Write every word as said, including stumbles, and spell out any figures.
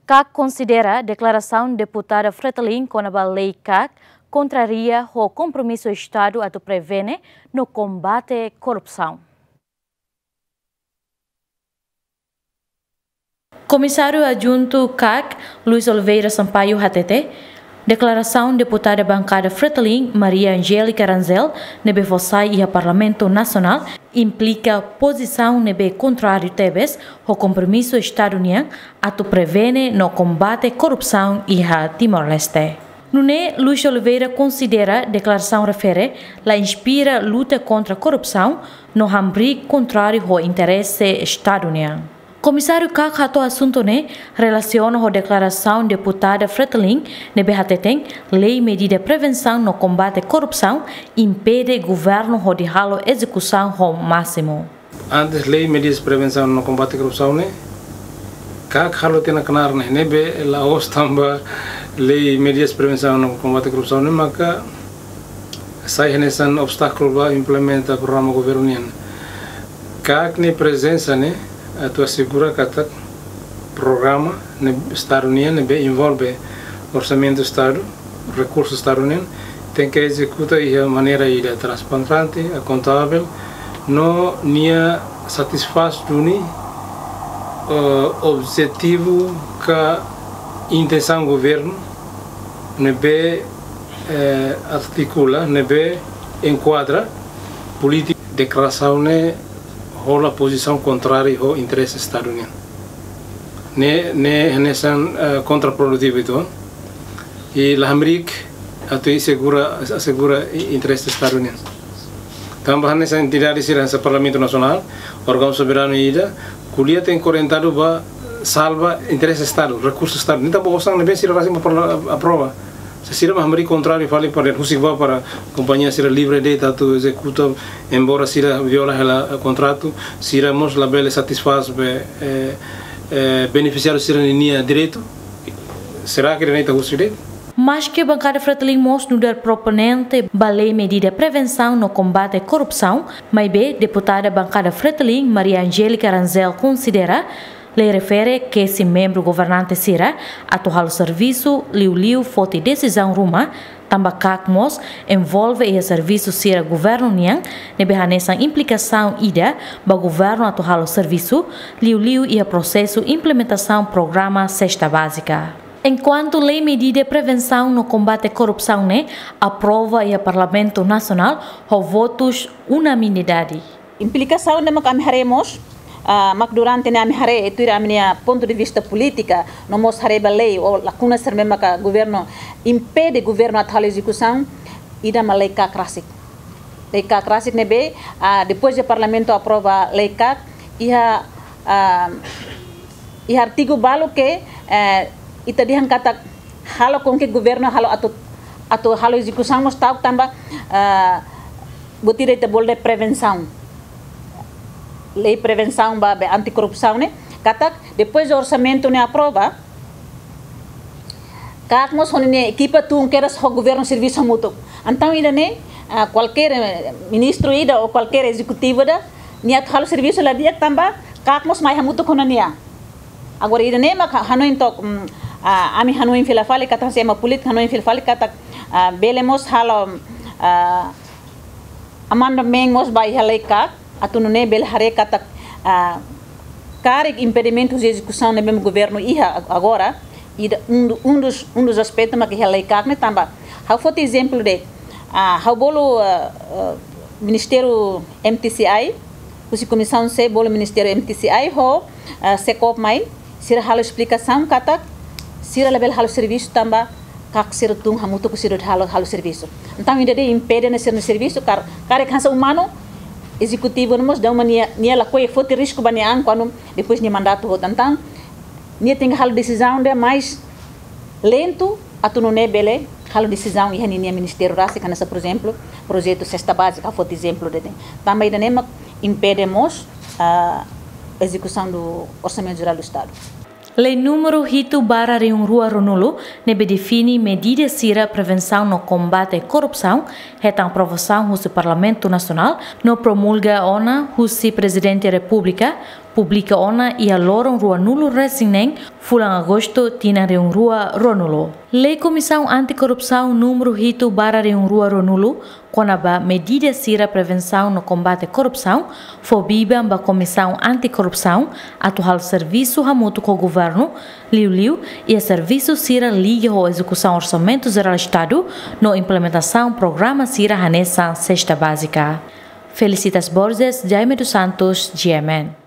KAK konsidera deklarasaun deputada Fretilin kona-ba lei KAK kontraria ho kompromisu Estadu atu prevene no kombate korrupsaun. Komisáriu Adjuntu KAK, Luis Oliveira Sampaio hatete, deklarasaun deputada bankada Fretilin, Maria Angélica Rangel, ne'ebé fó sai iha Parlamentu Nasionál, implika pozisaun ne'ebé kontráriu tebes ho kompromisu Estadu nian atu prevene no kombate korrupsaun iha Timor-Leste. Nune'e, Luis Oliveira konsidera deklarasaun refere la inspira luta kontra korrupsaun no hamriik kontráriu ho interese Estadu nian. Komisáriu KAK hato'o asuntu ne'e relasiona ho deklarasaun deputada Fretilin ne'ebé hateten lei medida prevensaun no kombate korrupsaun impede governu hodi halo ezekusaun ho másimu. Antes lei medidas prevensaun no kombate korrupsaun ne'e, KAK halo tiha ona knaar ne'e, ne'ebé la'ós tanba lei medidas prevensaun no kombate korrupsaun ne'e maka sai hanesan obstákulu ba implementa programa governu nian. KAK nia prezensa ne'e atu asegura katak programa ne'e Estadu nian ne'ebé envolve orsamentu Estadu, rekursu Estadu nian, tenke ezekuta iha maneira ida transparente, akontavel, no nia satisfás duni, eh, objetivu ka intensaun governu ne'ebé, eh, artikula, ne'ebé enkuadra polítika. Deklarasaun ne'e hola pozisaun kontráriu ho interese Estadu nian. Ne'e, ne'e hanesan, eh, kontraprodutivu uitoan. I la hamriik atu asegura, asegura i-, interese Estadu nian. Tanba hanesan entidade sira hanesan Parlamentu Nasionál, órgaun soberanu ida, ko'alia tenke orientadu ba salva interese Estadu, rekursu Estadu. Ne'e tanba osan ne'ebé sira rasik mak parla-, aprova. Se sira mak hamriik kontráriu fali para husik ba para kompañia sira livre de'it atu ezekuta, embora sira viola hela kontratu, sira mós labele satisfás be, eh, eh, benefisiáriu sira-ninia direitu. Será que direitu husik de'it? Maske bankada Fretilin mós nu'udar proponente ba lei medida prevensaun no kombate korrupsaun, maibé deputada bankada Fretilin, Maria Angélica Rangel, konsidera lei refere kesi membru governante sira atu halo servisu liuliu foti desizaun ruma, tanba KAK mós envolve iha servisu sira governu nian, ne'ebé hanesan implikasaun ida ba governu atu halo servisu liuliu iha prosesu implementasaun programa Sesta Bázika. Enkuantu lei medida prevensaun no kombate korrupsaun ne'e aprova iha Parlamentu Nasionál ho votus unanimidade. Implikasaun ne'e mak ami haree mós, ah, mak durante ne'e ami haree, tuir ami-nia pontu de vista polítika, no mós haree ba lei ou lakuna sira ne'ebé maka governu impede governu atu halo ezekusaun, ida mak lei KAK rasik. Lei KAK rasik ne'ebé, ah, depois de Parlamentu aprova lei KAK, iha, ah, iha artigu balu ke, eh, ita dehan katak halo com que governu halo atu, atu halo ezekusaun mós ta'uk tanba, ah, buat ida ita bolu dehan prevensaun. Lei prevensaun ba be antikorrupsaun ne'e, katak depois de orsamentu ne'e aprova, KAK mós ho ninia ekipa tun kedas ho governu servisu hamutuk. Entaun ida-ne'e, ah, kualkér, eh, ministru ida ou kualkér ezekutivu ida, nia atu halo servisu la di'ak tanba KAK mós mai hamutuk ho ninia. Agora ida-ne'e mak hanoin took, mm, ah, ami hanoin fila fali katak, hanesan ema polítiku hanoin fila fali katak, ah, bele mós halo, ah, amendamentu mós ba iha lei KAK, atu nune'e bele haree katak, ah, karik impedimentu de ezekusaun ne'ebé governu iha ag-, agora, ida um do, um dos, um dos aspectos mak iha lei KAK ne'e tanba. Ha'u foti ezemplu de'it, ah, ha'u bolu, ah, ah, Ministériu M T C I, husi Komisaun C bolu Ministériu M T C I ho, ah, SEKOP mai, sira halo esplikasaun katak sira labele halo servisu tanba KAK sira tun hamutuk ho sira halo, halo servisu. Entaun ida-ne'e impede nia sira-nia servisu, kar-, karik hanesan umanu, ezekutivu ne'e mós daudaun nia, nia lakohi foti risku ba nia an kuandu depois nia mandatu hotu. Entaun nia tenke halo desizaun ida mais lentu, atu nune'e bele halo desizaun iha ninia ministériu rasik, hanesan, por ezemplu, projetu Sesta Bázika, foti ezemplu de'it. Tanba ida-ne'e mak impede mós, ah, ezekusaun do Orsamentu Jerál do Estadu. Lei númeru hitu barra rihun rua ruanulu, ne'ebé define medida sira prevensaun no kombate korrupsaun, hetan aprovasaun husi Parlamentu Nasionál, no promulga ona husi Prezidente Repúblika, publika ona iha loron ruanulu-resin-neen fulan Agostu tinan rihun rua ruanulu. Lei Komisaun Anti-Korrupsaun númeru hitu barra rihun rua ruanulu, kona-ba medida sira prevensaun no kombate korrupsaun, fó biban ba Komisaun Anti-Korrupsaun atu halo servisu hamutuk ho governu, liuliu iha servisu sira liga ho ezekusaun Orsamentu Jerál Estadu no implementasaun programa sira hanesan sesta bázika. Felicitas Borges, Jaime dos Santos, G M N.